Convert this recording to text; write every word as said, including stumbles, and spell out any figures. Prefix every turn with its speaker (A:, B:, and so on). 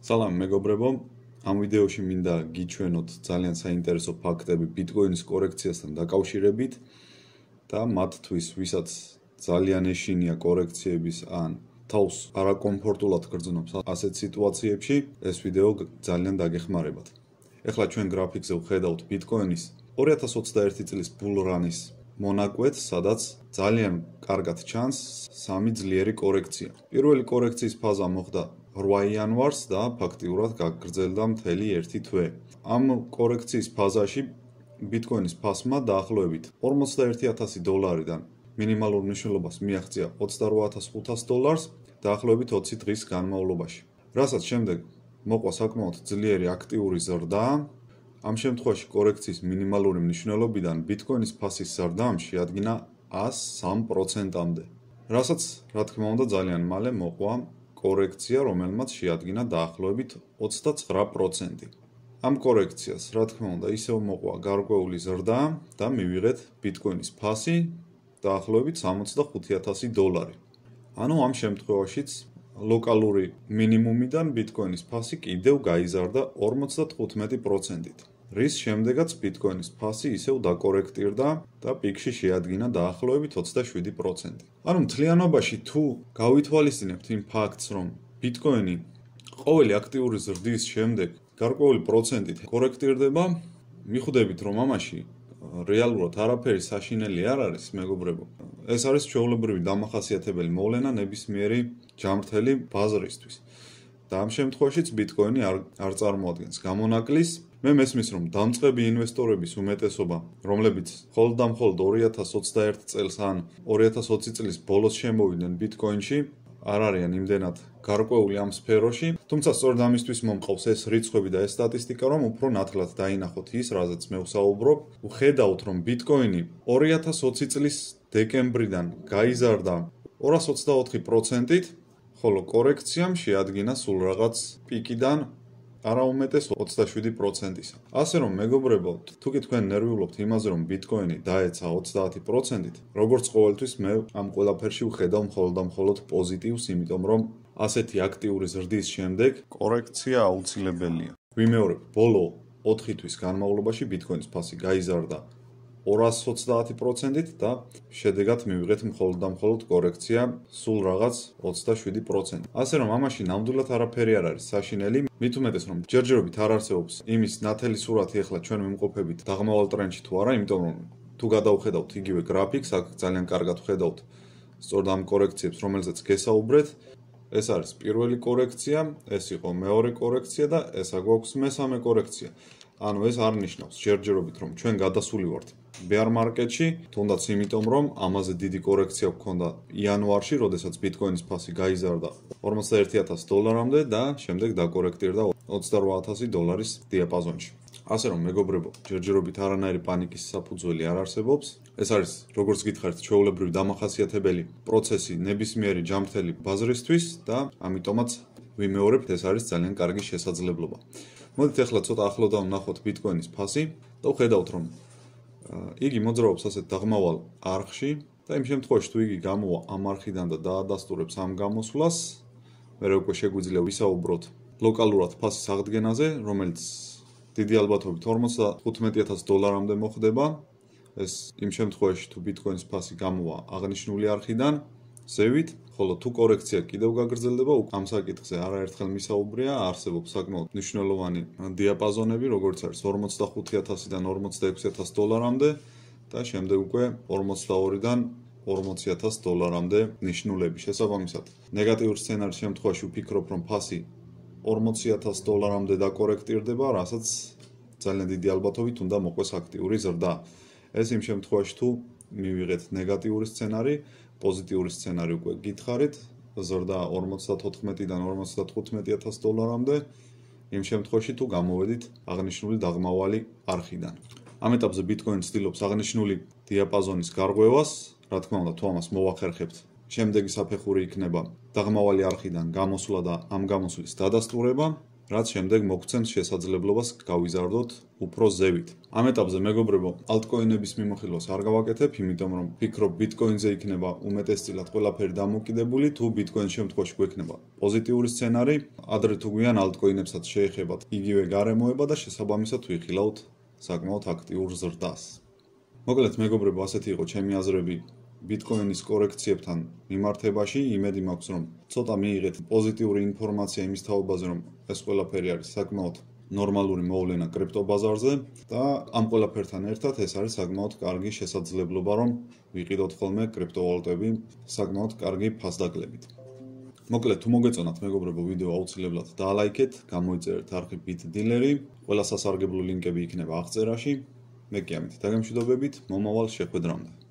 A: Salam, მეგობრებო, ამ ვიდეოში მინდა გიჩვენოთ ძალიან საინტერესო ფაქტები ბიტკოინის კორექციასთან დაკავშირებით და მათთვის, ვისაც ძალიან ეშინია კორექციების ან თავს არაკომფორტულად გრძნობს ასეთ სიტუაციებში, ეს ვიდეო ძალიან დაგეხმარებათ. ეხლა ჩვენ გრაფიკზე ვხედავთ ბიტკოინის ორი ათას ოცდაერთი წლის ბულრანის მონაკვეთს, სადაც ძალიან კარგად ჩანს სამი ძლიერი კორექცია. პირველი კორექციის ფაზა მოხდა რვა იანვარს და ფაქტიურად გაგრძელდა მთელი ერთი თვე. ამ კორექციის ფაზაში ბიტკოინის ფასმა დაახლოებით ორმოცდაერთი ათასი დოლარიდან მინიმალურ მნიშვნელობას მიაღწია ოცდარვა ათას ხუთას დოლარს დაახლოებით ოცი დღის განმავლობაში. რასაც შემდეგ მოყვა საკმაოდ ძლიერი აქტიური ზრდა, ამ შემთხვევაში კორექციის მინიმალური მნიშვნელობიდან ბიტკოინის ფასის ზრდამ შეადგინა ას სამ პროცენტამდე. რასაც, რა თქმა უნდა, ძალიან მალე მოყვა კორექცია, რომელმაც შეადგინა დაახლოებით ოცდაცხრა პროცენტი. ამ კორექციას, რა თქმა უნდა, ისევ მოყვა გარკვეული ზრდა და მივიღეთ ბიტკოინის ფასი დაახლოებით სამოცდახუთი ათასი დოლარი. ანუ ამ შემთხვევაშიც ლოკალური მინიმუმიდან ბიტკოინის ფასი კიდევ გაიზარდა ორმოცდათხუთმეტი პროცენტით. რის შემდეგაც ბიტკოინის ფასი ისევ დაკორექტირდა და პიკში შეადგინა დაახლოებით ოცდაშვიდი პროცენტი. ანუ მთლიანობაში თუ გავითვალისწინებთ იმ ფაქტს, რომ ბიტკოინი ყოველი აქტიური ზრდის შემდეგ გარკვეული პროცენტით კორექტირდება, მიხვდებით, რომ ამაში რეალურად არაფერი საშინელი არ არის, მეგობრებო. ეს არის ჩვეულებრივი დამახასიათებელი მოვლენა ნებისმიერი ჯამრთელი ბაზრისთვის. და ამ შემთხვევაშიც ბიტკოინი არ, არ წარმოადგენს გამონაკლის. მე მესმის, რომ დამწყები ინვესტორების უმეტესობა, რომლებიც მხოლოდ და მხოლოდ ორი ათას ოცდაერთი წელს ან ორი ათას ოცი წლის ბოლოს შემოვიდნენ ბიტკოინში, არ არიან იმდენად გარკვეული ამ სფეროში, თუმცა სწორედ ამისთვის მომყავს ეს რიცხვები და ეს სტატისტიკა, რომ უფრო ნათლად დაინახოთ ის, რაზეც მე ვსაუბრობ. ვხედავთ, რომ ბიტკოინი ორი ათას ოცი წლის დეკემბრიდან გაიზარდა ორას ოცდაოთხი პროცენტით, ხოლო კორექციამ შეადგინა სულ რაღაც პიკიდან არაუმეტეს ოცდაშვიდი პროცენტისა. ასე რომ, მეგობრებო, თუ კი თქვენ ნერვიულობთ იმაზე, რომ ბიტკოინი დაეცა ოცდაათი პროცენტით, როგორც ყოველთვის მე ამ ყველაფერში ვხედავ მხოლოდ და მხოლოდ პოზიტივს, იმიტომ რომ ასეთი აქტიური ზრდის შემდეგ კორექცია აუცილებელია. ვიმეორებ, ბოლო ოთხი თვის განმავლობაში ბიტკოინის ფასი გაიზარდა ორას ოცდაათი პროცენტით და შედეგად მივიღეთ მხოლოდ და მხოლოდ კორექცია სულ რაღაც ოცდაშვიდი პროცენტი. ასე რომ ამაში ნამდვილად არაფერი არ არის საშინელი, მით უმეტეს რომ ჯერჯერობით არ არსებობს იმის ნათელი სურათი ახლა ჩვენ ვიმყოფებით დაღმავალ ტრენდში თუ არა, იმიტომ რომ თუ გადავხედავთ იგივე გრაფიკს, აქ ძალიან კარგად ვხედავთ სწორედ ამ კორექციებს, რომელზეც გესაუბრეთ. ეს არის პირველი კორექცია, ეს იყო მეორე კორექცია და ეს აგვაქვს მესამე კორექცია. ანუ ეს არ ნიშნავს ჯერჯერობით რომ ჩვენ გადასული ვართ bear market-ში, თუნდაც იმიტომ რომ ამაზე დიდი კორექცია გვქონდა იანვარში, როდესაც ბიტკოინის ფასი გაიზარდა ორმოცდაერთი ათასი დოლარამდე და შემდეგ დაკორექტირდა ოცდარვა ათასი დოლარის დიაპაზონში. ასე რომ, მეგობრებო, ჯერჯერობით არანაირი პანიკის საფუძველი არ არსებობს. ეს არის, როგორც გითხარით, ჩვეულებრივი დამახასიათებელი პროცესი ნებისმიერი ჯამრთელი ბაზრისთვის და ამიტომაც ვიმეორებთ, ეს არის ძალიან კარგი შესაძლებლობა. მოდით ახლა ცოტა ახლოდან ვნახოთ ბიტკოინის ფასი და ვხედავთ, რომ იგი მოძრაობს ასეთ დაღმავალ არხში და იმ შემთხვევაში თუ იგი გამოვა ამ არხიდან და დაადასტურებს ამ გამოსვლას, მერე უკვე შეგვიძლია ვისაუბროთ ლოკალურად ფასის აღდგენაზე, რომელიც დიდი ალბათობით ორმოცდათხუთმეტი ათასი დოლარამდე მოხდება. ეს იმ შემთხვევაში თუ ბიტკოინის ფასი გამოვა აღნიშნული არხიდან ზევით, ხოლო თუ კორექცია კიდევ გაგრძელდება, ამ საკითხზე არაერთხელ მისაუბრია, არსებობს საკმაოდ მნიშვნელოვანი დიაპაზონები, როგორც არის ორმოცდახუთი ათასიდან ორმოცდაექვსი ათასი დოლარამდე და შემდეგ უკვე ორმოცდაორიდან ორმოცი ათასი დოლარამდე ნიშნულები. შესაბამისად, ნეგატიურ სცენარის შემთხვევაში ვფიქრობ, რომ ფასი ორმოცი ათასი დოლარამდე დაკორექტირდება, რასაც ძალიან დიდი ალბათობით უნდა მოყვეს აქტიური ზრდა. ეს იმ შემთხვევაში თუ მივიღეთ ნეგატიური სცენარი, პოზიტიური სცენარი უკვე გითხარით, ზრდა ორმოცდათოთხმეტიდან ორმოცდათხუთმეტი ათასი დოლარამდე, იმ შემთხვევაში თუ გამოვედით აღნიშნული დაღმავალი არხიდან. ამ ეტაპზე ბიტკოინი ცდილობს აღნიშნული დიაპაზონის გარღვევას, რა თქმა უნდა, თუ ამას მოვახერხებთ, შემდეგი საფეხური იქნება დაღმავალი არხიდან გამოსვლა და ამ გამოსვლის დადასტურება. რაც შემდეგ მოგცემს შესაძლებლობას გავიზარდოთ უფრო ზევით. Ამ ეტაპზე მეგობრებო, altcoin-ების მიმოხილვას არ გავაკეთებ, იმიტომ რომ ვფიქრობ Bitcoin-ზე იქნება უმეტესწილად ყველაფერი დამოკიდებული, თუ Bitcoin-ის შემთხვევაში გვექნება პოზიტიური სცენარი, ადრე თუ გვიან altcoin-ებსაც შეეხებათ იგივე გარემოება და შესაბამისად ვიხილავთ საკმაოდ აქტიურ ზრდას. მოკლედ მეგობრებო, ასეთი იყო ჩემი აზრები Bitcoin-ის კორექციებთან მიმართებაში, იმედი მაქვს რომ ცოტა მიიღეთ პოზიტიური ინფორმაცია იმის თაობაზე, რომ ეს ყველაფერი არის საკმაოდ ნორმალური მოვლენა კრიპტობაზარზე და ამ ყველაფერთან ერთად ეს არის საკმაოდ კარგი შესაძლებლობა, რომ ვიყიდოთ ხოლმე კრიპტოვალუტები საკმაოდ კარგი ფასდაკლებით. მოკლედ, თუ მოგეწონათ მეგობრებო ვიდეო აუცილებლად დაალაიქეთ, გამოიწერეთ არხი BitDealer-ი, ყველა სასარგებლო ლინკები იქნება აღწერაში. მე კი ამით დაგემშვიდობებით, მომავალ შეხვედრამდე.